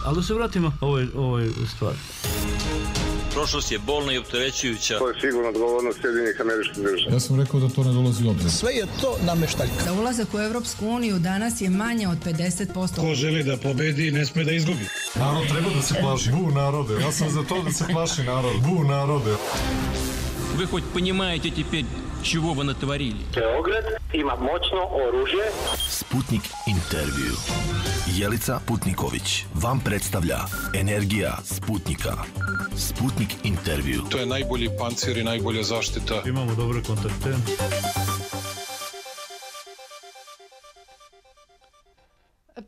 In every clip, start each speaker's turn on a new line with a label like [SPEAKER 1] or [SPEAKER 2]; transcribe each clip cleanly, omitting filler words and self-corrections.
[SPEAKER 1] Ali da se vratimo ovoj stvari.
[SPEAKER 2] Prošlost je bolna i opterećujuća.
[SPEAKER 3] To je sigurno odgovornost Sjedinjenih Američkih Država.
[SPEAKER 4] Ja sam rekao da to ne dolazi u obzir.
[SPEAKER 5] Sve je to nameštaljka.
[SPEAKER 6] Za ulazak u Evropsku uniju danas je manje od 50%.
[SPEAKER 7] Ko želi da pobedi, ne sme da izgubi.
[SPEAKER 4] Narod treba da se plaši. Bu narode. Ja sam za to da se plaši narod. Bu narode.
[SPEAKER 2] Вы хоть понимаете теперь, чего вы натворили?
[SPEAKER 3] Beograd ima moćno oružje.
[SPEAKER 8] Sputnik intervju. Jelica Putniković vam predstavlja Energija Sputnika. Sputnik intervju.
[SPEAKER 4] To je najbolji pancir i najbolja zaštita.
[SPEAKER 1] Imamo dobre kontakte.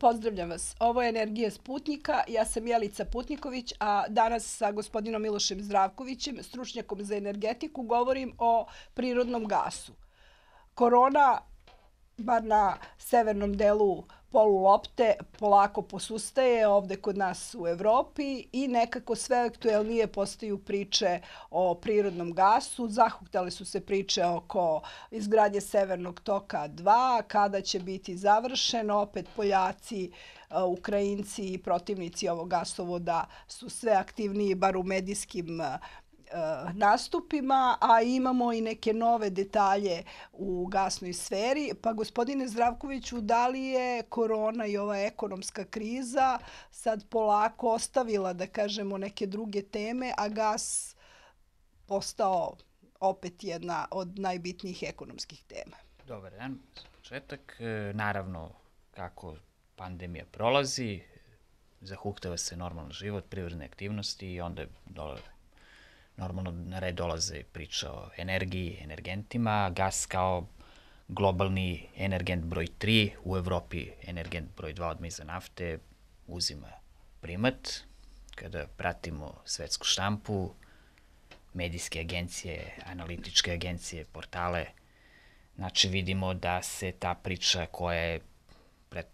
[SPEAKER 9] Pozdravljam vas. Ovo je Energija Sputnika. Ja sam Jelica Putniković, a danas sa gospodinom Milošem Zdravkovićem, stručnjakom za energetiku, govorim o prirodnom gasu. Korona, bar na severnom delu polulopte, polako posustaje ovde kod nas u Evropi i nekako sve aktuelnije postaju priče o prirodnom gasu. Zahuktale su se priče oko izgradnje Severnog toka 2, kada će biti završen. Opet Poljaci, Ukrajinci i protivnici ovog gasovoda su sve aktivniji, bar u medijskim nastupima, a imamo i neke nove detalje u gasnoj sferi. Pa gospodine Zdravkoviću, da li je korona i ova ekonomska kriza sad polako ostavila, da kažemo, neke druge teme, a gas postao opet jedna od najbitnijih ekonomskih tema?
[SPEAKER 10] Dobar dan, za početak. Naravno, kako pandemija prolazi, zahuktava se normalan život, privredne aktivnosti i onda normalno na red dolaze priča o energiji, energentima. Gas kao globalni energent broj 3, u Evropi energent broj 2 odmah iza nafte, uzima primat. Kada pratimo svetsku štampu, medijske agencije, analitičke agencije, portale, znači vidimo da se ta priča koja je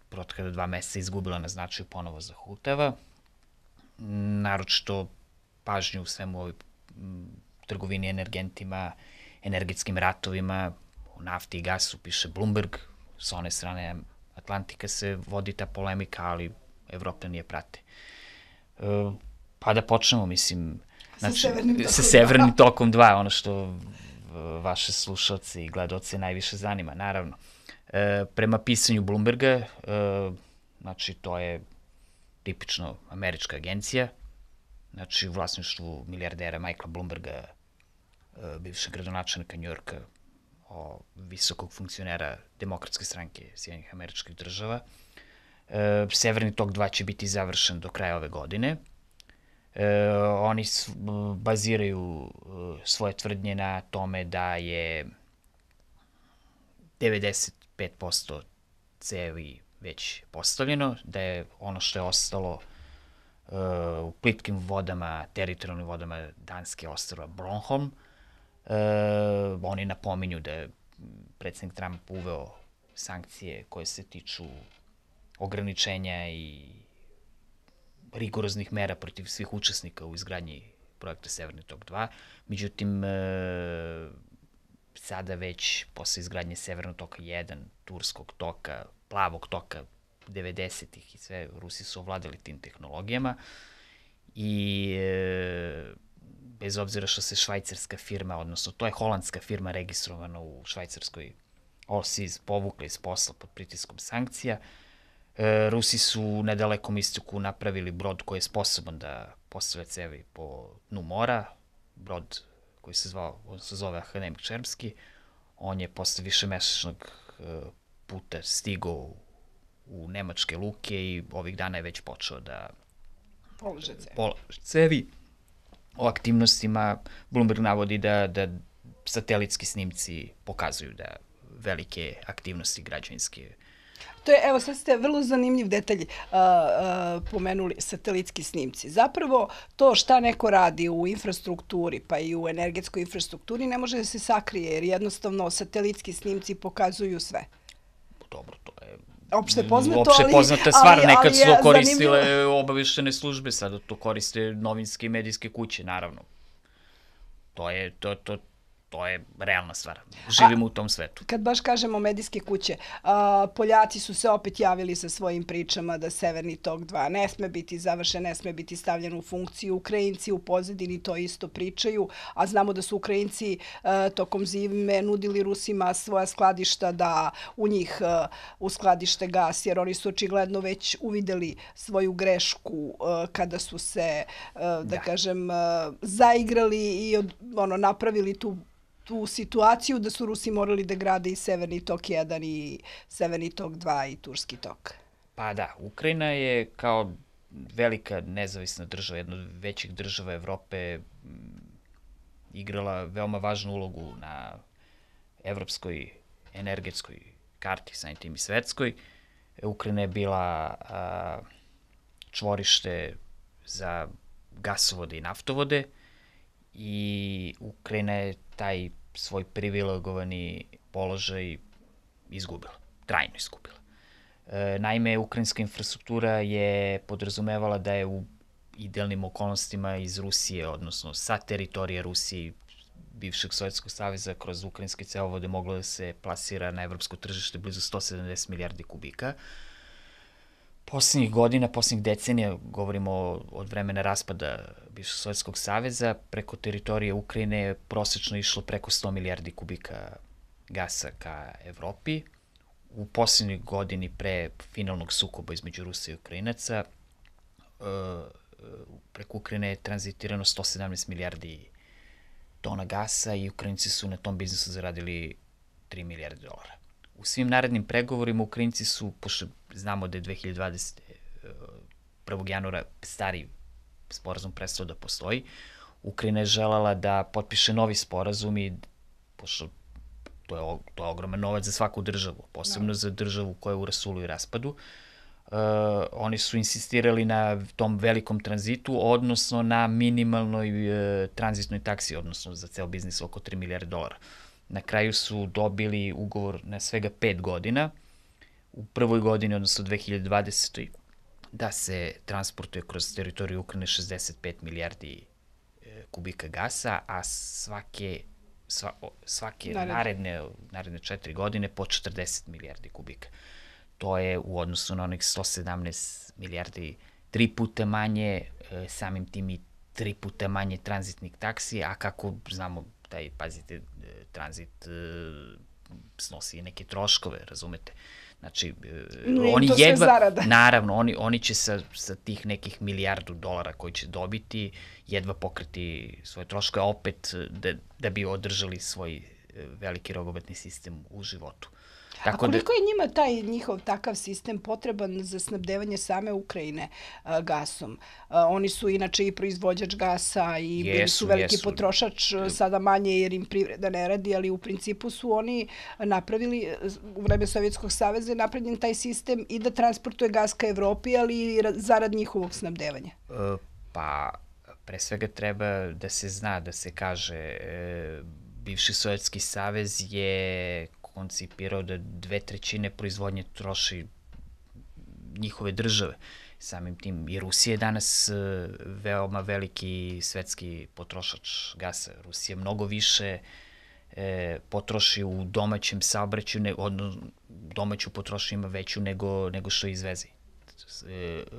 [SPEAKER 10] protekla 2 meseca izgubila na značaju ponovo zahuktava. Naročito pažnju u svemu ovoj trgovini energentima, energetskim ratovima, u nafti i gasu piše Bloomberg, sa one strane Atlantika se vodi ta polemika, ali Evropljani je prate. Pa da počnemo, mislim, sa Severnim tokom 2, ono što vaše slušalce i gledaoce najviše zanima, naravno. Prema pisanju Bloomberga, znači to je tipično američka agencija, znači u vlasništvu milijardera Michaela Bloomberga, bivšeg gradonačelnika Njujorka, visokog funkcionera Demokratske stranke Sjedinjenih Američkih Država. Severni tok 2 će biti završen do kraja ove godine. Oni baziraju svoje tvrdnje na tome da je 95% cevi već postavljeno, da je ono što je ostalo u plitkim vodama, teritorijalnim vodama Danske ostrva Bornholm. Oni napominju da je predsjednik Trump uveo sankcije koje se tiču ograničenja i rigoroznih mera protiv svih učesnika u izgradnji projekta Severni tok 2. Međutim, sada već posle izgradnje Severnog toka 1, Turskog toka, Plavog toka 90-ih i sve, Rusi su ovladali tim tehnologijama i bez obzira što se švajcarska firma, odnosno to je holandska firma registrovana u švajcarskoj OSIS, povukla iz posla pod pritiskom sankcija. Rusi su na dalekom istoku napravili brod koji je sposoban da postavlja cevi po dnu mora, brod koji se zove Akademik Čermski. On je posle višemesečnog puta stigao u nemačke luke i ovih dana je već počeo da polaže cevi. O aktivnostima Bloomberg navodi da satelitski snimci pokazuju da velike aktivnosti građevinske.
[SPEAKER 9] To je, evo, sad ste vrlo zanimljiv detalj pomenuli, satelitski snimci. Zapravo, to šta neko radi u infrastrukturi, pa i u energetskoj infrastrukturi, ne može da se sakrije, jer jednostavno satelitski snimci pokazuju sve.
[SPEAKER 10] Dobro, to je
[SPEAKER 9] opšte poznato,
[SPEAKER 10] opšte poznata stvar. Nekad su to koristile obaveštene službe, sada to koriste novinske i medijske kuće, naravno. To To je realna stvar. Živimo u tom svetu.
[SPEAKER 9] Kad baš kažemo medijske kuće, Poljaci su se opet javili sa svojim pričama da Severni tok 2 ne sme biti završen, ne sme biti stavljen u funkciju. Ukrajinci u pozadini to isto pričaju, a znamo da su Ukrajinci tokom zime nudili Rusima svoja skladišta da u njih uskladište gas, jer oni su očigledno već uvideli svoju grešku kada su se, da kažem, zaigrali i napravili tu situaciju da su Rusi morali da grade i Severni tok 1 i Severni tok 2 i Turski tok.
[SPEAKER 10] Pa da, Ukrajina je kao velika nezavisna država, jedna od većih država Evrope, igrala veoma važnu ulogu na evropskoj energetskoj karti, samim tim i svetskoj. Ukrajina je bila čvorište za gasovode i naftovode i Ukrajina je taj svoj privilegovani položaj izgubila, trajno izgubila. Naime, ukrajinska infrastruktura je podrazumevala da je u idealnim okolnostima iz Rusije, odnosno sa teritorije Rusije i bivšeg Sovjetskog saveza kroz ukrajinske cevovode moglo da se plasira na evropsko tržište blizu 170 milijardi kubika. Poslednjih godina, poslednjih decenija, govorimo od vremena raspada bivšeg Sovjetskog saveza, preko teritorije Ukrajine je prosečno išlo preko 100 milijardi kubika gasa ka Evropi. U poslednjoj godini pre finalnog sukoba između Rusa i Ukrajinaca, preko Ukrajine je tranzitirano 117 milijardi tona gasa i Ukrajinci su na tom biznisu zaradili 3 milijarde dolara. U svim narednim pregovorima Ukrajinci su, pošto znamo da je 2020. 1. januara stari sporazum prestao da postoji, Ukrajina je želala da potpiše novi sporazum i, pošto to je ogroman novac za svaku državu, posebno za državu koja je u rasulu i raspadu, oni su insistirali na tom velikom tranzitu, odnosno na minimalnoj tranzitnoj taksi, odnosno za ceo biznis oko 3 milijarde dolara. Na kraju su dobili ugovor na svega 5 godina. U prvoj godini, odnosno 2020. da se transportuje kroz teritoriju Ukrajine 65 milijardi kubika gasa, a svake naredne 4 godine po 40 milijardi kubika. To je u odnosu na onih 117 milijardi 3 puta manje, samim tim i 3 puta manje tranzitnih taksi, a kako znamo, pazite, tranzit snosi neke troškove, razumete? Znači, oni jedva, naravno, oni će sa tih nekih milijardu dolara koji će dobiti, jedva pokriti svoje troškove, opet da bi održali svoj veliki rogobatni sistem u životu.
[SPEAKER 9] A koliko je njima taj njihov takav sistem potreban za snabdevanje same Ukrajine gasom? Oni su inače i proizvođač gasa i bili su veliki potrošač, sada manje jer im privreda ne radi, ali u principu su oni napravili, u vreme Sovjetskog saveza je napravljen taj sistem i da transportuje gas ka Evropi, ali i zarad njihovog snabdevanja.
[SPEAKER 10] Pa, pre svega treba da se zna, da se kaže, bivši Sovjetski savez je koncipirao da 2/3 proizvodnje troši njihove države. Samim tim i Rusija je danas veoma veliki svetski potrošač gasa. Rusija mnogo više potroši u domaćem saobraćaju, domaću potrošnju ima veću nego što izveze.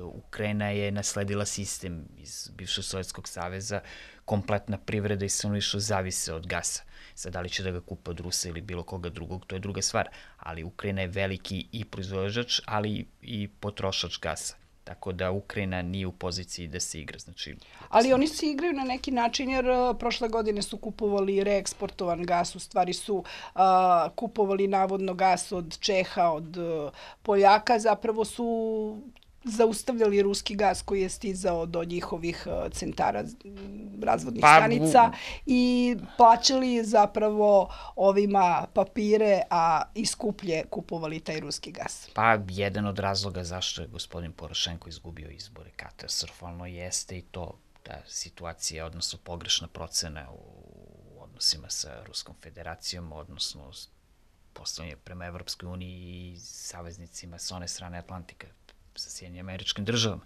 [SPEAKER 10] Ukrajina je nasledila sistem iz bivšeg Sovjetskog saveza, kompletna privreda i stanovništvo zavise od gasa. Sad, da li će da ga kupe od Rusa ili bilo koga drugog, to je druga stvar. Ali Ukrajina je veliki i proizvođač, ali i potrošač gasa. Tako da Ukrajina nije u poziciji da se igra. Znači,
[SPEAKER 9] ali oni se igraju na neki način jer prošle godine su kupovali reeksportovan gas, u stvari su kupovali navodno gas od Čeha, od Poljaka, zapravo su zaustavljali ruski gas koji je stizao do njihovih centara razvodnih stanica i plaćali zapravo ovima papire, a i skuplje kupovali taj ruski gas.
[SPEAKER 10] Pa, jedan od razloga zašto je gospodin Porošenko izgubio izbore katastrofalno jeste i to da situacija, odnosno pogrešna procena u odnosima sa Ruskom federacijom, odnosno postavljanje prema Evropskoj uniji i saveznicima s one strane Atlantika, sa Sjedinjenim Američkim Državama.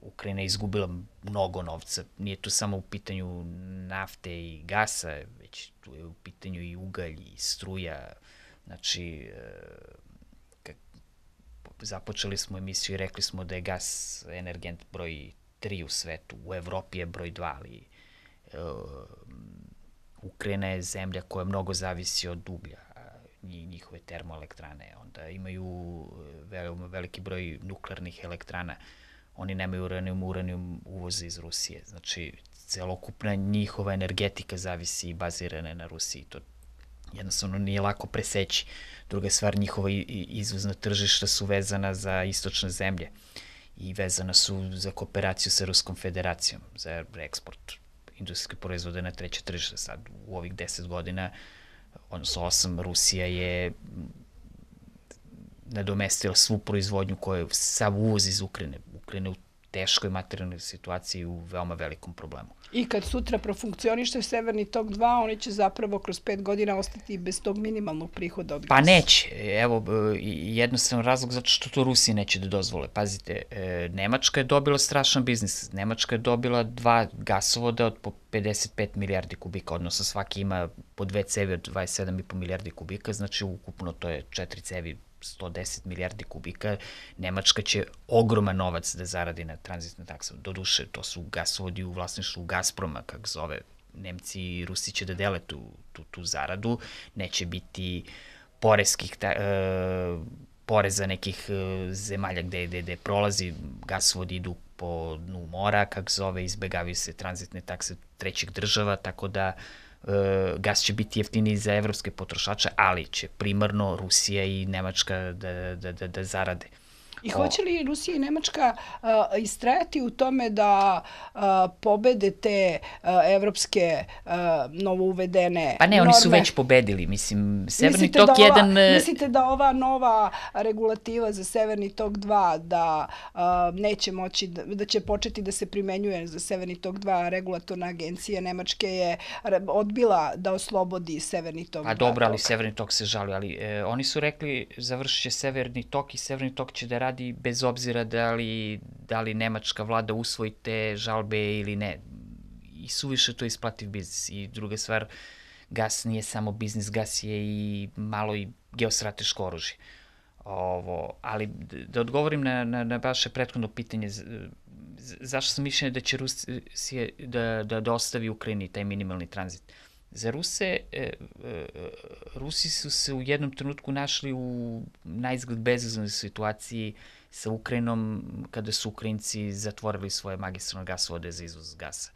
[SPEAKER 10] Ukrajina je izgubila mnogo novca. Nije tu samo u pitanju nafte i gasa, već tu je u pitanju i ugalj i struja. Znači, započeli smo emisiju i rekli smo da je gas energent broj 3 u svetu. U Evropi je broj 2, ali Ukrajina je zemlja koja mnogo zavisi od uglja, njihove termoelektrane. Onda imaju veliki broj nuklearnih elektrana. Oni nemaju uranijum uvoze iz Rusije. Znači, celokupna njihova energetika zavisi i bazirana na Rusiji. To jednostavno nije lako preseći. Druga stvar, njihova izvozna tržišta su vezana za istočne zemlje i vezana su za kooperaciju sa Ruskom federacijom, za eksport industrijske proizvode na treće tržište. Sad, u ovih 10 godina, odnosno 8, Rusija je nadomestila svu proizvodnju koju sav uvoz iz Ukrajine. Ukrajina u teškoj materijalnoj situaciji u veoma velikom problemu.
[SPEAKER 9] I kad sutra profunkcioniše Severni tok 2, oni će zapravo kroz 5 godina ostati bez tog minimalnog prihoda od gasa.
[SPEAKER 10] Pa neće. Evo, jednostavan razlog zato što to Rusiji neće da dozvole. Pazite, Nemačka je dobila strašan biznis. Nemačka je dobila 2 gasovoda od po 55 milijardi kubika, odnosno svaki ima po 2 cevi od 27,5 milijardi kubika, znači ukupno to je 4 cevi 110 milijardi kubika. Nemačka će ogroman novac da zaradi na tranzitne takse. Doduše, to su gasovodi u vlasništvu Gazproma, kako zove. Nemci i Rusi će da dele tu zaradu. Neće biti poreza nekih zemalja gde prolazi. Gasovodi idu po dnu mora, kako zove, izbegavaju se tranzitne takse trećih država, tako da gas će biti jeftiniji za evropske potrošače, ali će primarno Rusija i Nemačka da zarade.
[SPEAKER 9] I hoće li Rusija i Nemačka istrajati u tome da pobede te evropske novouvedene norme?
[SPEAKER 10] Pa ne, oni su već pobedili. Mislim, Severni tok 1...
[SPEAKER 9] Mislite da ova nova regulativa za Severni tok 2 da neće moći, da će početi da se primenjuje za Severni tok 2, regulatorna agencija Nemačke je odbila da oslobodi Severni tok 2?
[SPEAKER 10] Pa dobro, ali Severni tok se žali, ali oni su rekli završit će Severni tok i Severni tok će da radi bez obzira da li nemačka vlada usvoji te žalbe ili ne. I suviše to isplativ biznis. I druga stvar, gas nije samo biznis, gas je i malo i geostrateško oružje. Ali da odgovorim na vaše prethodno pitanje, zašto sam mišljenja da će Rusija da ostavi Ukrajini taj minimalni tranzit? Za Rusi su se u jednom trenutku našli u naizgled bezizlaznoj situaciji sa Ukrajinom kada su Ukrajinci zatvorili svoje magistralne gasovode za izvoz gasa.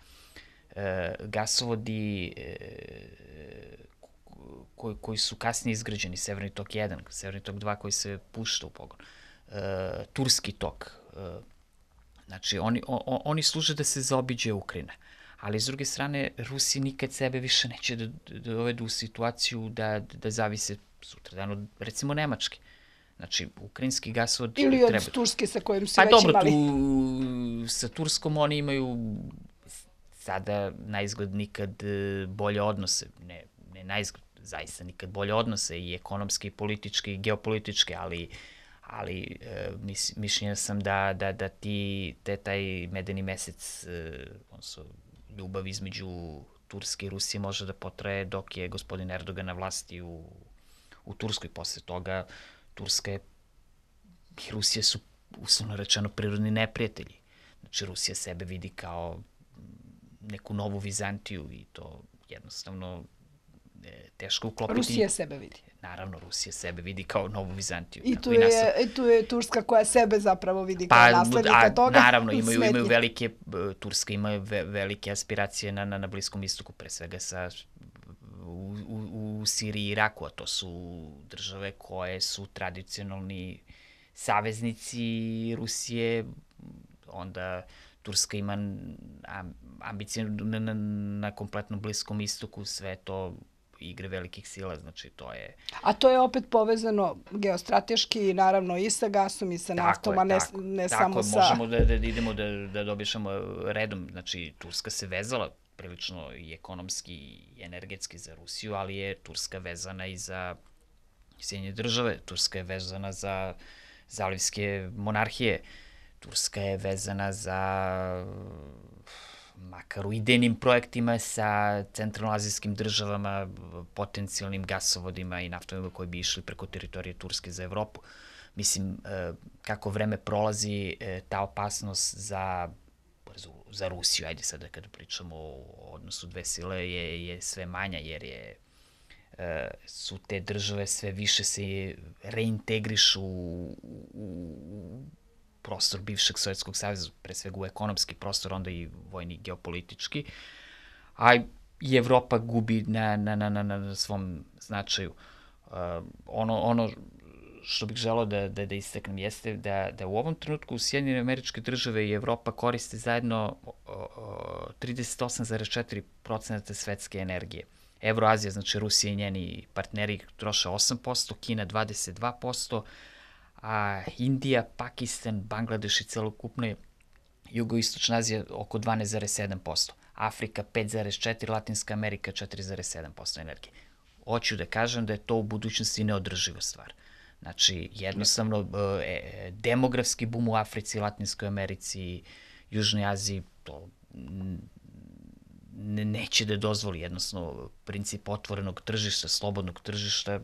[SPEAKER 10] Gasovodi koji su kasnije izgrađeni, Severni tok 1, Severni tok 2 koji se pušta u pogon, Turski tok, znači oni služe da se zaobiđe Ukrajina. Ali s druge strane, Rusi nikad sebe više neće da dovedu u situaciju da zavise sutradan od, recimo, Nemačke. Znači, ukrajinski gasovod...
[SPEAKER 9] Ili od Turske sa kojim su već imali.
[SPEAKER 10] Pa dobro, sa Turskom oni imaju sada naizgled nikad bolje odnose. Ne naizgled, zaista nikad bolje odnose i ekonomske, i političke, i geopolitičke, ali mišljenja sam da taj medeni mesec, odnosno ljubav između Turske i Rusije može da potraje dok je gospodin Erdogan na vlasti u Turskoj. Posle toga Turska i Rusija su, uslovno rečeno, prirodni neprijatelji. Znači, Rusija sebe vidi kao neku novu Vizantiju i to jednostavno teško uklopiti.
[SPEAKER 9] Rusija sebe vidi.
[SPEAKER 10] Naravno, Rusija sebe vidi kao novu Vizantiju.
[SPEAKER 9] I tu je Turska koja sebe zapravo vidi kao naslednika toga.
[SPEAKER 10] Naravno, imaju Turska ima velike aspiracije na Bliskom istoku, pre svega u Siriji i Iraku, a to su države koje su tradicionalni saveznici Rusije. Onda Turska ima ambicije na kompletnom Bliskom istoku, sve to igre velikih sila, znači to je...
[SPEAKER 9] A to je opet povezano geostrateški, naravno i sa gasom i sa naftom, a ne samo sa...
[SPEAKER 10] Tako, možemo da idemo da dobišamo redom, znači Turska se vezala prilično i ekonomski i energetski za Rusiju, ali je Turska vezana i za Sjedinjene države, Turska je vezana za zalivske monarhije, Turska je vezana za makar u idejnim projektima sa centralnoazijskim državama, potencijalnim gasovodima i naftovima koji bi išli preko teritorije Turske za Evropu. Mislim, kako vreme prolazi, ta opasnost za Rusiju, ajde sada kada pričamo o odnosu dve sile, je sve manja, jer su te države sve više se reintegrišu u prostor bivšeg Sovjetskog saveza, pre svega u ekonomski prostor, onda i vojni, geopolitički, a i Evropa gubi na svom značaju. Ono što bih želeo da istaknem jeste da u ovom trenutku Sjedinjene Američke Države i Evropa koriste zajedno 38,4% svetske energije. Evroazija, znači Rusija i njeni partneri troše 8%, Kina 22%, a Indija, Pakistan, Bangladeš i celokupna jugoistočna Azija oko 12,7%. Afrika 5,4%, Latinska Amerika 4,7% energije. Hoću da kažem da je to u budućnosti neodrživa stvar. Znači, jednostavno, demografski bum u Africi, Latinskoj Americi, Južnoj Aziji, to neće da dozvoli. Jednostavno, princip otvorenog tržišta, slobodnog tržišta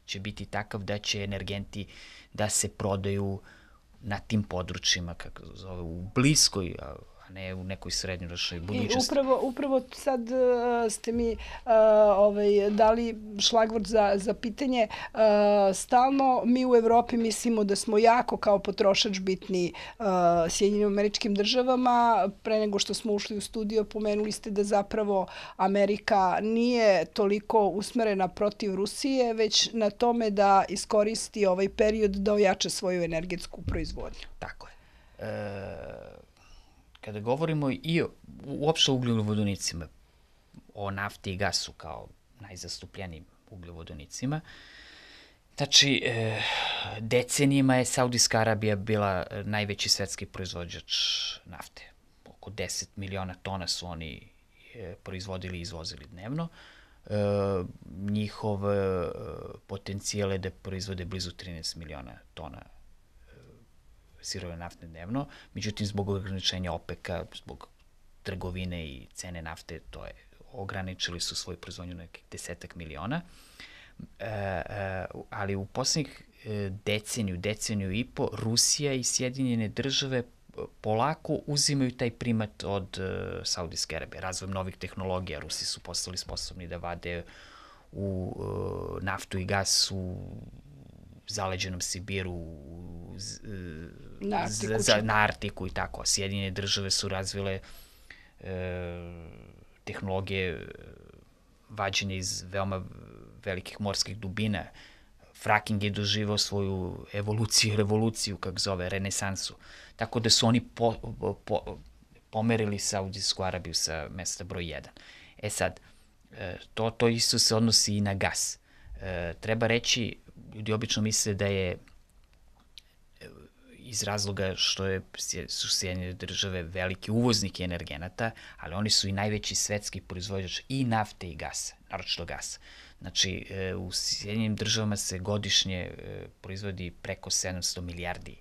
[SPEAKER 10] će biti takav da će energenti da se prodaju na tim područjima, kako zove, u bliskoj, a ne u nekoj srednjoročnoj budućnosti.
[SPEAKER 9] I upravo sad ste mi dali šlagvort za pitanje. Stalno mi u Evropi mislimo da smo jako kao potrošač bitni Sjedinjenim Američkim Državama. Pre nego što smo ušli u studio, pomenuli ste da zapravo Amerika nije toliko usmerena protiv Rusije, već na tome da iskoristi ovaj period da ojača svoju energetsku proizvodnju.
[SPEAKER 10] Tako je. Kada govorimo i uopšte o ugljovodonicima, o nafti i gasu kao najzastupljenijim ugljovodonicima, znači, decenijima je Saudijska Arabija bila najveći svetski proizvođač nafte. Oko 10 miliona tona su oni proizvodili i izvozili dnevno. Njihov potencijal je da proizvode blizu 13 miliona tona sirove naftne dnevno, međutim, zbog ograničenja OPEC-a, zbog trgovine i cene nafte, to je, ograničili su svoju proizvodnju na nekih 10 miliona, ali u poslednjih deceniju i po, Rusija i Sjedinjene Države polako uzimaju taj primat od Saudijske Arabije. Razvojem novih tehnologija, Rusi su postali sposobni da vade u naftu i gas u zaleđenom Sibiru, na Artiku i tako. Sjedinjene Države su razvile tehnologije vađenja iz veoma velikih morskih dubina. Fracking je doživao svoju evoluciju, revoluciju, kako zove, renesansu. Tako da su oni pomerili Saudijsku Arabiju sa mesta broj 1. E sad, to isto se odnosi i na gas. Treba reći, ljudi obično misle da je iz razloga što su Sjedinjene Države veliki uvoznik energenata, ali oni su i najveći svetski proizvođač i nafte i gasa, naročito gasa. Znači, u Sjedinjenim Državama se godišnje proizvodi preko 700 milijardi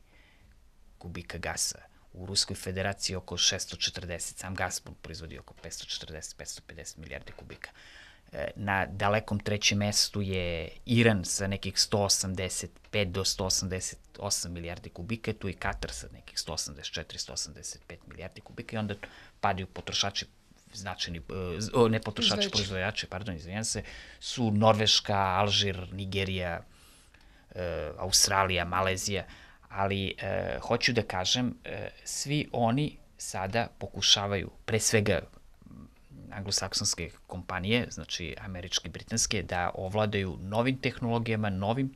[SPEAKER 10] kubika gasa. U Ruskoj Federaciji oko 640, sam Gazprom proizvodi oko 540-550 milijardi kubika. Na dalekom trećem mestu je Iran sa nekih 185 do 188 milijardi kubika, tu i Katar sa nekih 184-185 milijardi kubika i onda padaju potrošači značajni, ne potrošači, proizvođači, izvinjam se, su Norveška, Alžir, Nigerija, Australija, Malezija, ali hoću da kažem, svi oni sada pokušavaju, pre svega anglosaksonske kompanije, znači američke i britanske, da ovladaju novim tehnologijama, novim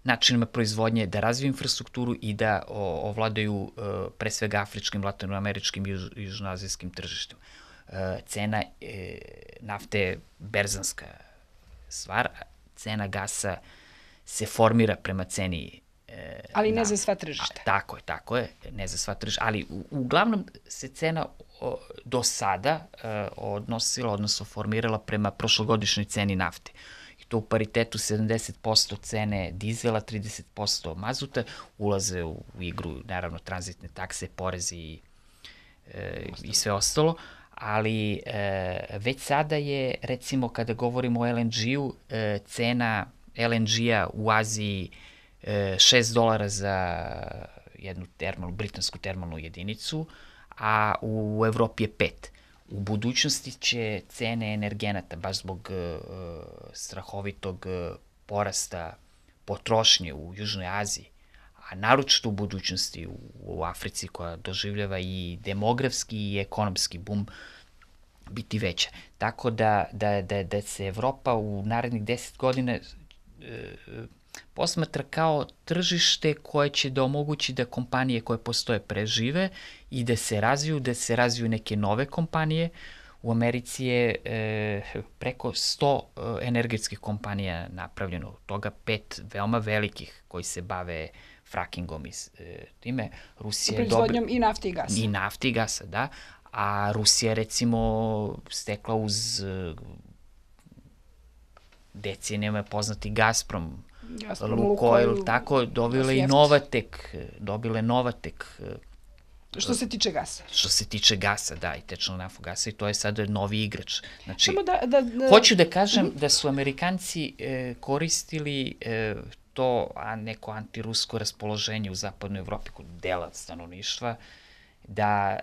[SPEAKER 10] načinima proizvodnje, da razviju infrastrukturu i da ovladaju pre svega afričkim, latinoameričkim i južnoazijskim tržištima. Cena nafte je berzanska stvar, cena gasa se formira prema ceni.
[SPEAKER 9] Ali ne za sva tržišta.
[SPEAKER 10] Tako je, ne za sva tržišta, ali uglavnom se cena do sada odnosila, odnosno formirala prema prošlogodišnjoj ceni nafte. I to u paritetu 70% cene dizela, 30% mazuta, ulaze u igru, naravno, tranzitne takse, porezi i sve ostalo, ali već sada je, recimo, kada govorimo o LNG-u, cena LNG-a u Aziji $6 za jednu britansku termalnu jedinicu, a u Evropi je 5. U budućnosti će cene energenata, baš zbog strahovitog porasta potrošnje u Južnoj Aziji, a naročito u budućnosti u Africi, koja doživljava i demografski i ekonomski bum, biti veća. Tako da se Evropa u narednih 10 godina posmatra kao tržište koje će da omogući da kompanije koje postoje prežive i da se razviju neke nove kompanije. U Americi je preko 100 energetskih kompanija napravljeno, od toga 5 veoma velikih koji se bave frackingom i time. Rusija je
[SPEAKER 9] proizvodnjom i nafte i gasa.
[SPEAKER 10] I nafte i gasa, da. A Rusija je, recimo, stekla uz decenijama poznati Gazprom, Lukoil, tako, dobile Novatek.
[SPEAKER 9] Što se tiče gasa.
[SPEAKER 10] Što se tiče gasa, da, i tečnog naftnog gasa, i to je sada novi igrač. Znači, hoću da kažem da su Amerikanci koristili to neko antirusko raspoloženje u zapadnoj Evropi kod dela stanovništva, da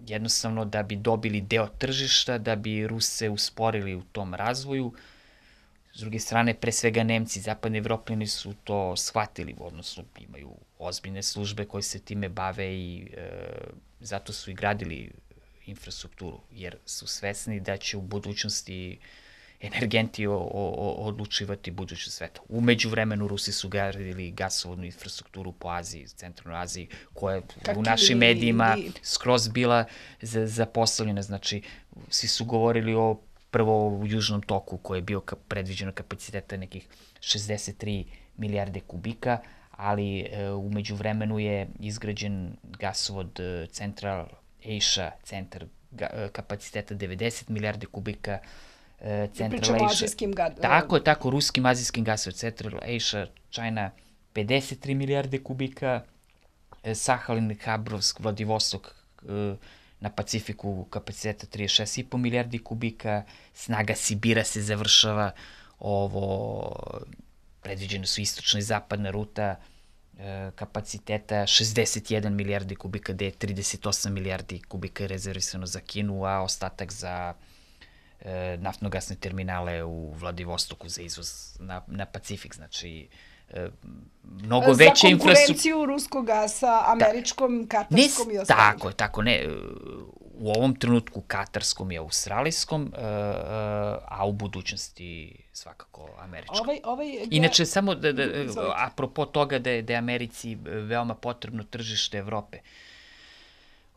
[SPEAKER 10] jednostavno da bi dobili deo tržišta, da bi Ruse usporili u tom razvoju. S druge strane, pre svega Nemci, zapadni Evropljani su to shvatili, odnosno imaju ozbiljne službe koje se time bave i zato su i gradili infrastrukturu, jer su svesni da će u budućnosti energenti odlučivati budućnost sveta. Umeđu vremenu Rusi su gradili gasovodnu infrastrukturu po Aziji, centralnoj Aziji, koja je u našim medijima skroz bila zapostavljena. Znači, svi su govorili o prvo u Južnom toku, koji je bio predviđeno kapaciteta nekih 63 milijarde kubika, ali umeđu vremenu je izgrađen gasovod Central Asia, centar kapaciteta 90 milijarde kubika,
[SPEAKER 9] Pričamo o azijskim
[SPEAKER 10] gasovod. Tako, ruskim azijskim gasovod, Central Asia, China, 53 milijarde kubika, Sahalin, Habrovsk, Vladivostok, na Pacifiku kapaciteta 36,5 milijardi kubika, snaga Sibira se završava, predviđene su istočna i zapadna ruta, kapaciteta 61 milijardi kubika, gde je 38 milijardi kubika rezervisano za Kinu, a ostatak za naftno-gasne terminale u Vladivostoku za izvoz na Pacifik. Znači, mnogo veća infrastruktura.
[SPEAKER 9] Za konkurenciju ruskog gasa, američkom, katarskom i ostalim.
[SPEAKER 10] Tako, ne. U ovom trenutku katarskom i australijskom, a u budućnosti svakako američkom. Inače, samo apropo toga da je Americi veoma potrebno tržište Evrope.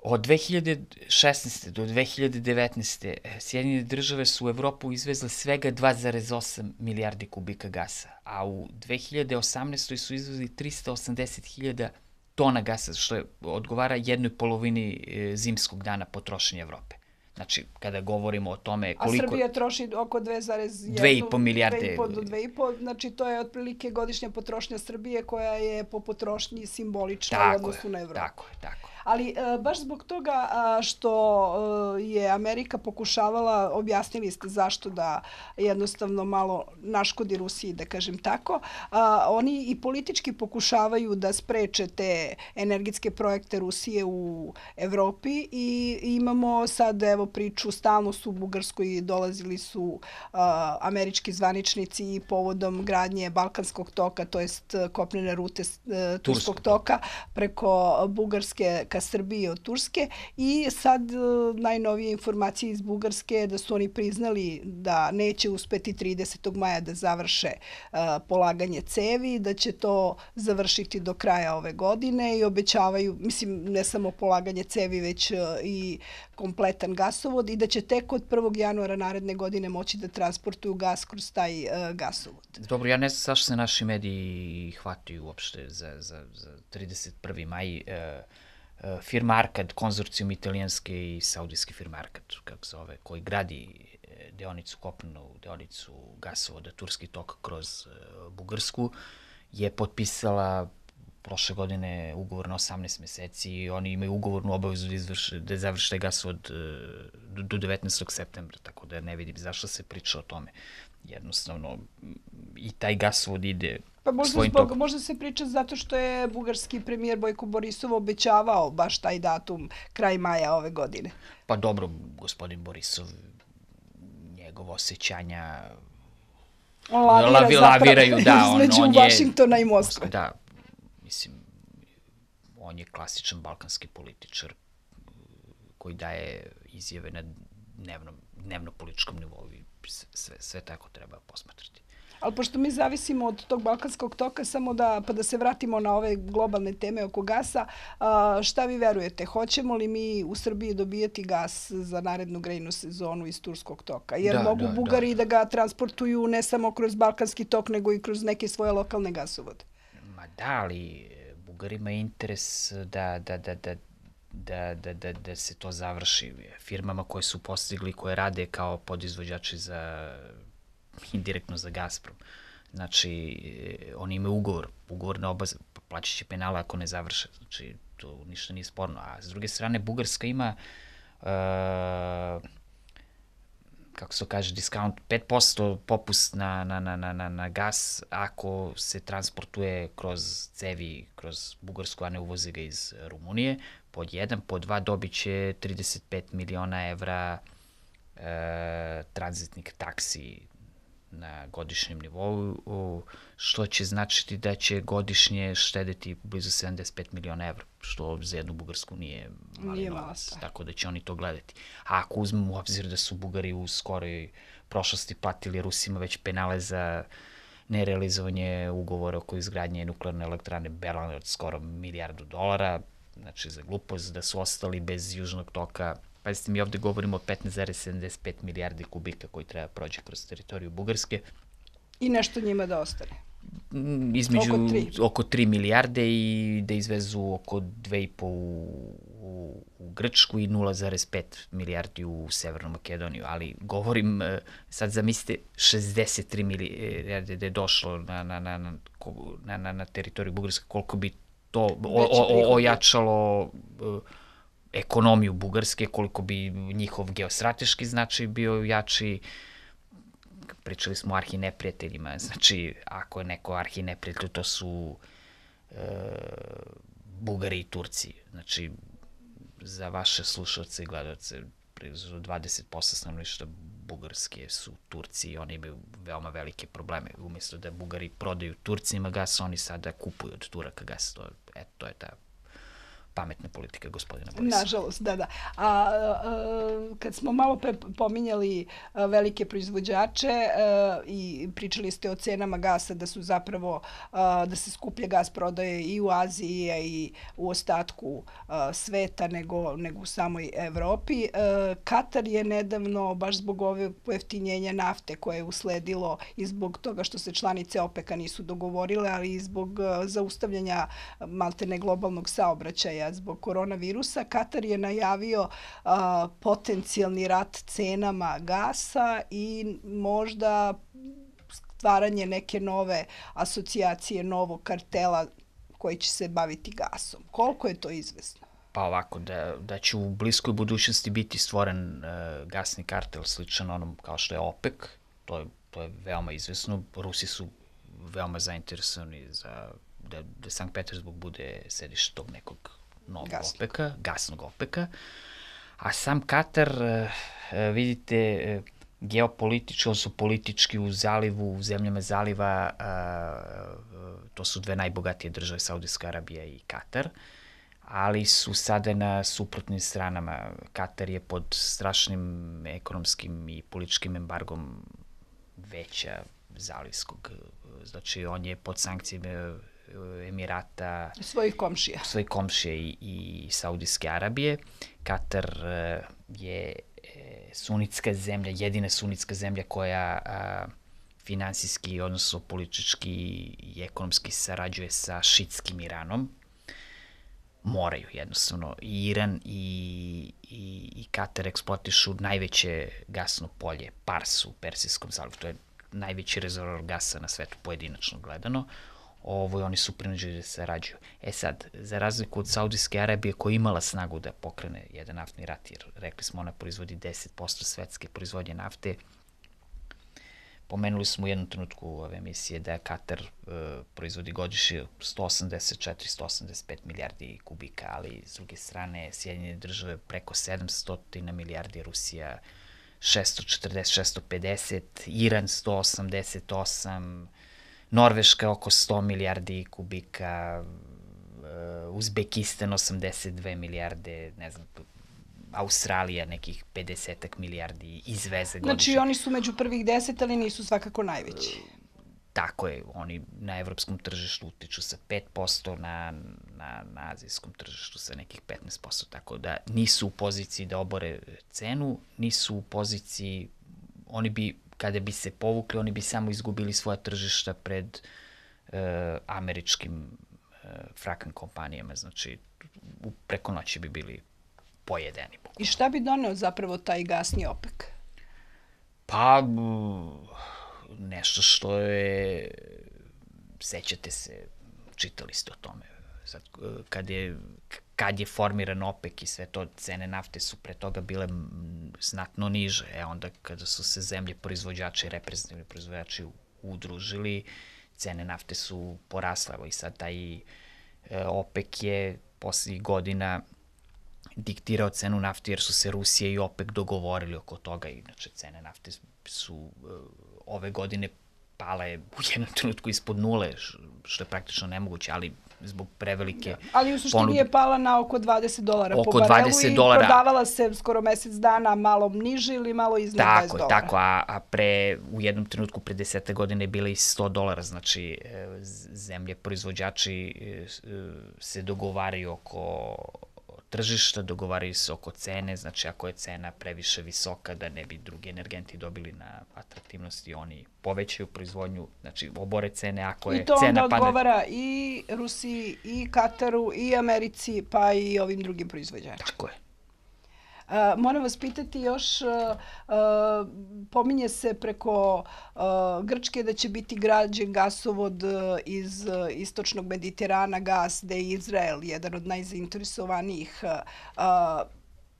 [SPEAKER 10] Od 2016. do 2019. Sjedinjene države su u Evropu izvezle svega 2,8 milijardi kubika gasa, a u 2018. su izvezli 380.000 tona gasa, što odgovara 1,5 zimskog dana potrošnje Evrope. Znači, kada govorimo o tome koliko...
[SPEAKER 9] A Srbija troši oko
[SPEAKER 10] 2,5 milijarde.
[SPEAKER 9] 2,5 do 2,5, znači to je otprilike godišnja potrošnja Srbije koja je po potrošnji simbolična u odnosu na Evropu.
[SPEAKER 10] Tako.
[SPEAKER 9] Ali baš zbog toga što je Amerika pokušavala, objasnili ste zašto da jednostavno malo naškodi Rusiji, da kažem tako, oni i politički pokušavaju da spreče te energetske projekte Rusije u Evropi i imamo sad, evo, priču, stalno su u Bugarskoj dolazili su američki zvaničnici i povodom gradnje Balkanskog toka, to jest kopnene rute Turskog toka preko Bugarske ka Srbiji od Turske, i sad najnovije informacije iz Bugarske da su oni priznali da neće uspeti 30. maja da završe polaganje cevi, da će to završiti do kraja ove godine i obećavaju, mislim, ne samo polaganje cevi, već i kompletan gasovod, i da će tek od 1. januara naredne godine moći da transportuju gas kroz taj gasovod.
[SPEAKER 10] Dobro, ja ne znam zašto se naši mediji hvataju uopšte za 31. maj. Firma Arkad, konzorcijum italijanske i saudijske firme Arkad, kako zove, koji gradi deonicu kopnenu, deonicu gasovoda Turski tok kroz Bugarsku, je potpisala prošle godine ugovor na 18 meseci i oni imaju ugovornu obavezu da završe taj gasovod do 19. septembra, tako da ne vidim zašto se priča o tome. Jednostavno, i taj gasovod ide svojim tokom.
[SPEAKER 9] Možda se priča zato što je bugarski premijer Bojko Borisov obećavao baš taj datum kraj maja ove godine.
[SPEAKER 10] Pa dobro, gospodin Borisov, njegov osjećanja laviraju, da,
[SPEAKER 9] između Vašingtona i Moskve.
[SPEAKER 10] Da, mislim, on je klasičan balkanski političar koji daje izjave na dnevno-političkom nivou i sve tako treba posmatrati.
[SPEAKER 9] Ali pošto mi zavisimo od tog balkanskog toka, samo da se vratimo na ove globalne teme oko gasa, šta vi verujete? Hoćemo li mi u Srbiji dobijati gas za narednu grejnu sezonu iz Turskog toka? Jer mogu Bugari da ga transportuju ne samo kroz balkanski tok, nego i kroz neke svoje lokalne gasovode.
[SPEAKER 10] Ma da, ali Bugarima je interes da se to završi. Firmama koje su postigli, koje rade kao podizvođači indirektno za Gazprom. Znači, oni imaju ugovor na oba, plaćat će penale ako ne završe. Znači, to ništa nije sporno. A s druge strane, Bugarska ima, kako se to kaže, discount, 5% popust na gas ako se transportuje kroz cevi, kroz Bugarsku, a ne uvoze ga iz Rumunije. Pod 1, pod 2 dobit će 35 miliona evra tranzitnih taksi na godišnjem nivou, što će značiti da će godišnje štedeti blizu 75 miliona evra, što za jednu Bugarsku nije mali novac, tako da će oni to gledati. A ako uzmemo u obzir da su Bugari u skoroj prošlosti platili Rusima već penale za nerealizovanje ugovora oko izgradnje nuklearne elektrane Berlane od skoro $1 milijardu, znači za glupost, da su ostali bez južnog toka. Pazite, mi ovde govorimo o 15,75 milijardi kubika koji treba prođe kroz teritoriju Bugarske.
[SPEAKER 9] I nešto njima da ostane?
[SPEAKER 10] Oko 3 milijarde i da izvezu oko 2,5 u Grčku i 0,5 milijardi u Severnu Makedoniju. Ali govorim, sad zamislite, 63 milijarde da je došlo na teritoriju Bugarske, koliko bi to ojačalo ekonomiju Bugarske, koliko bi njihov geostrateški značaj bio jači. Pričali smo o arhineprijateljima, znači ako je neko arhineprijatelj, to su Bugari i Turci. Znači, za vaše slušalce i gledalce, 20% stanovništva Bugarske su Turci i oni imaju veoma velike probleme. Umjesto da Bugari prodaju Turcima gas, oni sada kupuju od Turaka gas. To je ta pametna politika gospodina Borisa.
[SPEAKER 9] Nažalost, da. A kad smo malo pre pominjali velike proizvođače i pričali ste o cenama gasa, da su zapravo, da se skuplje gas prodaje i u Aziji i u ostatku sveta nego u samoj Evropi. Katar je nedavno, baš zbog ove pojeftinjenja nafte koje je usledilo i zbog toga što se članice OPEC-a nisu dogovorile, ali i zbog zaustavljanja maltene globalnog saobraćaja zbog koronavirusa, Katar je najavio potencijalni rat cenama gasa i možda stvaranje neke nove asocijacije, novog kartela koji će se baviti gasom. Koliko je to izvesno?
[SPEAKER 10] Pa ovako, da će u bliskoj budućnosti biti stvoren gasni kartel sličan onom kao što je OPEC, to je veoma izvesno. Rusi su veoma zainteresovani da Sankt Petersburg bude sedište tog nekog novog OPEC-a, gasnog OPEC-a, a sam Katar, vidite, geopolitički, odnosno politički u zalivu, u zemljama zaliva, to su dve najbogatije države, Saudijska Arabija i Katar, ali su sada na suprotnim stranama. Katar je pod strašnim ekonomskim i političkim embargom veća zalivskog. Znači, on je pod sankcijama Emirata,
[SPEAKER 9] svojih
[SPEAKER 10] komšija i Saudijske Arabije. Katar je sunitska zemlja, jedina sunitska zemlja koja finansijski, odnosno politički i ekonomski sarađuje sa šitskim Iranom. moraju jednostavno. I Iran i Katar eksploatišu najveće gasno polje, Pars u Persijskom zalivu. To je najveći rezervoar gasa na svetu pojedinačno gledano. Oni su prinuđeni da se sarađuju. Sad, za razliku od Saudijske Arabije koja je imala snagu da pokrene jedan naftni rat, jer rekli smo ona proizvodi 10% svetske proizvodnje nafte, pomenuli smo u jednom trenutku ove emisije da Katar proizvodi godišnje 184-185 milijardi kubika, ali s druge strane Sjedinjene države preko 700 milijardi, Rusija 640-650, Iran 188, Norveška oko 100 milijardi kubika, Uzbekistan 82 milijarde, ne znam, Australija nekih 50 milijardi izveze godišnje.
[SPEAKER 9] Znači oni su među prvih 10, ali nisu svakako najveći.
[SPEAKER 10] Tako je, oni na evropskom tržištu utiču sa 5%, na azijskom tržištu sa nekih 15%, tako da nisu u poziciji da obore cenu, nisu u poziciji, oni bi, kada bi se povukli, oni bi samo izgubili svoja tržišta pred američkim fracking kompanijama, znači preko noći bi bili pojedeni.
[SPEAKER 9] I šta bi doneo zapravo taj gasni OPEC?
[SPEAKER 10] Pa, nešto što je, sećate se, čitali ste o tome, sad, kad je formiran OPEC i sve to, cene nafte su pre toga bile znatno niže, onda kada su se zemlje proizvođači, reprezentativni proizvođači udružili, cene nafte su porasle, i sad taj OPEC je poslednjih godina diktirao cenu nafte jer su se Rusija i OPEC dogovorili oko toga. Inače, cene nafte su ove godine pale u jednom trenutku ispod nule, što je praktično nemoguće, ali zbog prevelike
[SPEAKER 9] ali u suštini je pala na oko $20
[SPEAKER 10] oko
[SPEAKER 9] po barelu
[SPEAKER 10] $20.
[SPEAKER 9] I prodavala se skoro mesec dana malo niže ili malo iznad $20.
[SPEAKER 10] Tako, a u jednom trenutku pre 10 godine je bila i $100, znači zemlje proizvođači se dogovaraju oko tržišta, dogovaraju se oko cene, znači ako je cena previše visoka da ne bi drugi energenti dobili na atraktivnosti, oni povećaju proizvodnju, znači obore cene, ako je cena padne.
[SPEAKER 9] I to onda odgovara i Rusiji, i Kataru, i Americi, pa i ovim drugim proizvođačima.
[SPEAKER 10] Tako je.
[SPEAKER 9] Moram vas pitati još, pominje se preko Grčke da će biti građen gasovod iz istočnog Mediterana, gas, da je Izrael jedan od najzainteresovanijih.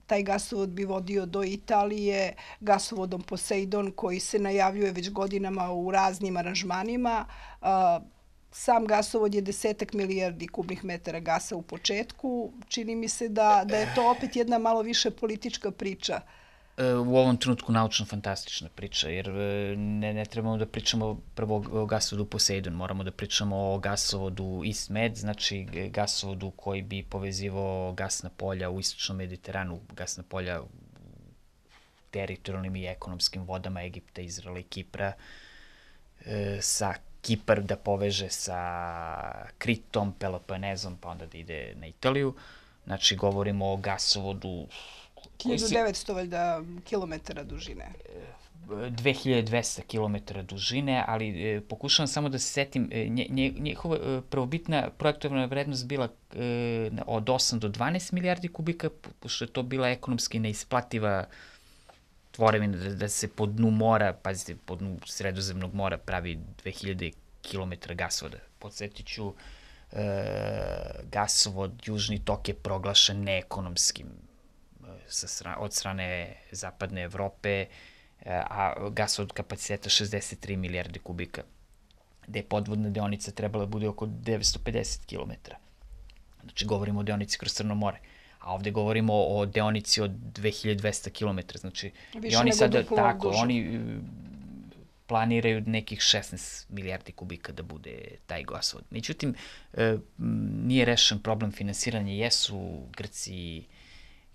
[SPEAKER 9] Taj gasovod bi vodio do Italije, gasovodom Poseidon koji se najavljuje već godinama u raznim aranžmanima. Sam gasovod je 10 milijardi kubnih metara gasa u početku. Čini mi se da je to opet jedna malo više politička priča.
[SPEAKER 10] U ovom trenutku naučno-fantastična priča, jer ne trebamo da pričamo prvo o gasovodu Poseidon, moramo da pričamo o gasovodu East Med, znači gasovodu koji bi povezivao gasna polja u istočnom Mediteranu, gasna polja u teritorijalnim i ekonomskim vodama Egipta, Izraela i Kipra, sa Kipar da poveže sa Kritom, Peloponezom, pa onda da ide na Italiju. Znači, govorimo o gasovodu
[SPEAKER 9] 1900 valjda kilometara dužine.
[SPEAKER 10] 2200 kilometara dužine, ali pokušavam samo da se setim, njihova prvobitna projektovna vrednost bila od 8 do 12 milijardi kubika, pošto je to bila ekonomski neisplativa tvorevina da se po dnu mora, pazite, po dnu Sredozemnog mora pravi 2000 kilometara gasovoda. Podsjetit ću, gasovod Južni tok je proglašen neekonomskim od strane Zapadne Evrope, a gasovod kapaciteta 63 milijarde kubika, gde je podvodna deonica trebala da bude oko 950 kilometara. Znači, govorimo o deonici kroz Crno more. A ovde govorimo o deonici od 2200 km, znači
[SPEAKER 9] više nego duplo duže.
[SPEAKER 10] Oni planiraju nekih 16 milijardi kubika da bude taj gasovod. Međutim, nije rešen problem finansiranja, jesu Grci,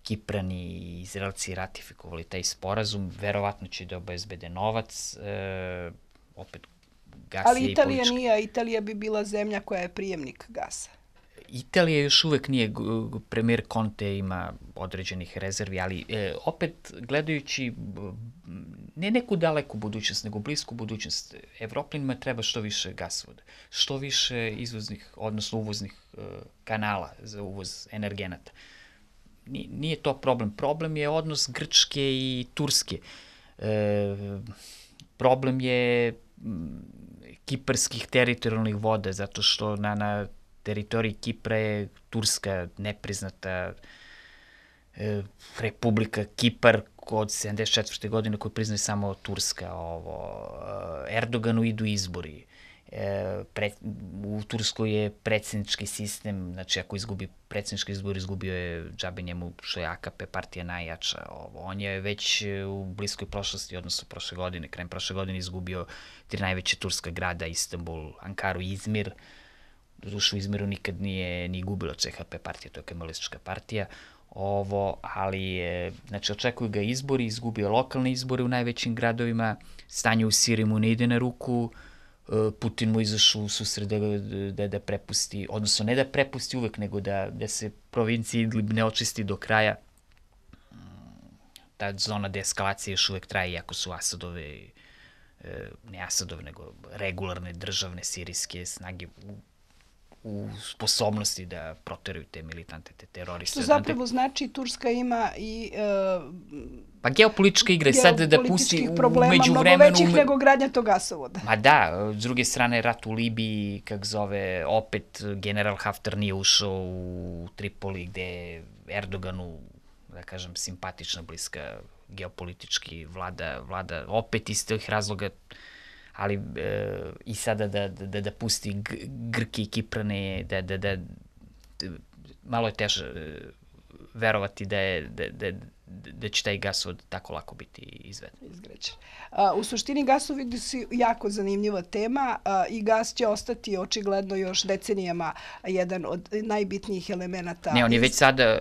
[SPEAKER 10] Kiprani i Izraelci ratifikovali taj sporazum, verovatno će da obezbede novac, opet gas je i politički.
[SPEAKER 9] Ali Italija nije, Italija bi bila zemlja koja je prijemnik gasa.
[SPEAKER 10] Italija još uvek nije, premijer Conte ima određenih rezervi, ali opet gledajući ne neku daleku budućnost, nego blisku budućnost. Evropljanima treba što više gasovoda, što više izvoznih, odnosno uvoznih kanala za uvoz energenata. Nije to problem. Problem je odnos Grčke i Turske. Problem je kiparskih teritorijalnih voda, zato što na teritoriji Kipra je Turska nepriznata Republika Kipar od 74. godine koju priznaje samo Turska. Erdoganu idu izbori. U Turskoj je predsjednički sistem, znači ako izgubi predsjednički izbor, izgubio je džabe njemu što je AKP partija najjača. On je već u bliskoj prošlosti, odnosno prošle godine, krajem prošle godine izgubio 3 najveće turska grada, Istanbul, Ankaru i Izmir. Doduše u Izmiru nikad nije ni gubilo CHP partija, to je kemalistička partija. Ali znači očekuju ga izbori, izgubio lokalne izbore u najvećim gradovima, stanje u Siriji mu ne ide na ruku, Putin mu izašao u susret da prepusti, odnosno ne da prepusti uvek, nego da se provincija Idlib ne očisti do kraja. Ta zona deeskalacije još uvek traje, iako su Asadove, ne Asadove, nego regularne državne sirijske snage u sposobnosti da proteraju te militante, te teroriste.
[SPEAKER 9] Što zapravo znači Turska ima i
[SPEAKER 10] pa geopolitička igra, sad da pusti
[SPEAKER 9] problema mnogo većih nego gradnja tog gasovoda.
[SPEAKER 10] Ma da, s druge strane rat u Libiji, kak zove, opet general Haftar nije ušao u Tripoli gde je Erdoganu, da kažem, simpatična, bliska geopolitički vlada opet iz tih razloga, ali i sada da pusti Grke i Kiprane, malo je teže verovati da će taj gasovod tako lako biti izveden.
[SPEAKER 9] Izgrađen. U suštini gasovodi su jako zanimljiva tema i gas će ostati očigledno još decenijama jedan od najbitnijih elemenata.
[SPEAKER 10] Ne, on je već sada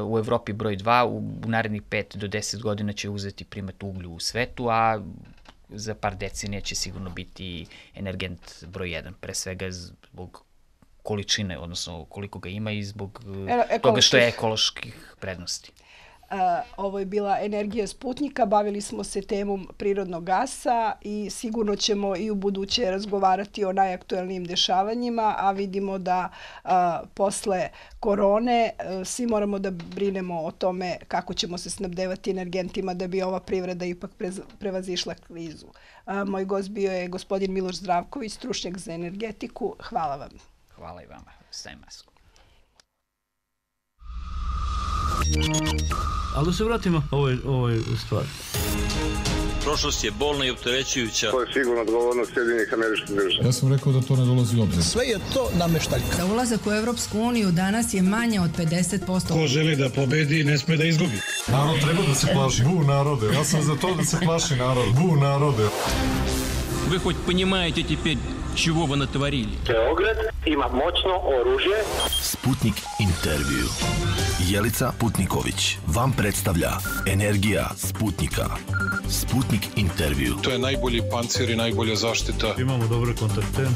[SPEAKER 10] u Evropi broj 2, u narednih 5 do 10 godina će uzeti primat uglju u svetu, a za par decenija će sigurno biti energent broj 1, pre svega zbog količine, odnosno koliko ga ima i zbog toga što je ekoloških prednosti.
[SPEAKER 9] Ovo je bila Energija Sputnika, bavili smo se temom prirodnog gasa i sigurno ćemo i u buduće razgovarati o najaktuelnijim dešavanjima, a vidimo da posle korone svi moramo da brinemo o tome kako ćemo se snabdevati energentima da bi ova privreda ipak prevazišla krizu. Moj gost bio je gospodin Miloš Zdravković, stručnjak za energetiku. Hvala vam.
[SPEAKER 10] Hvala i vama. Stavim masku.
[SPEAKER 1] Ali da se vratimo ovoj stvari.
[SPEAKER 2] Prošlost je bolna i opterećujuća.
[SPEAKER 3] To je sigurno odgovornost Sjedinjenih Američkih Država.
[SPEAKER 4] Ja sam rekao da to ne dolazi u obzir.
[SPEAKER 6] Sve je to nameštaljka. Za ulazak u Evropsku uniju danas je manje od 50%.
[SPEAKER 7] Ko želi da pobedi, ne sme da izgubi.
[SPEAKER 4] Narod treba da se plaši. Bu narode. Ja sam za to da se plaši narod. Bu narode.
[SPEAKER 2] Вы хоть понимаете теперь, чего вы натворили?
[SPEAKER 3] Beograd ima moćno oružje.
[SPEAKER 8] Sputnik intervju. Jelica Putniković vam predstavlja Energija Sputnika. Sputnik intervju.
[SPEAKER 5] To je najbolji pancir i najbolja zaštita.
[SPEAKER 1] Imamo dobre kontakte.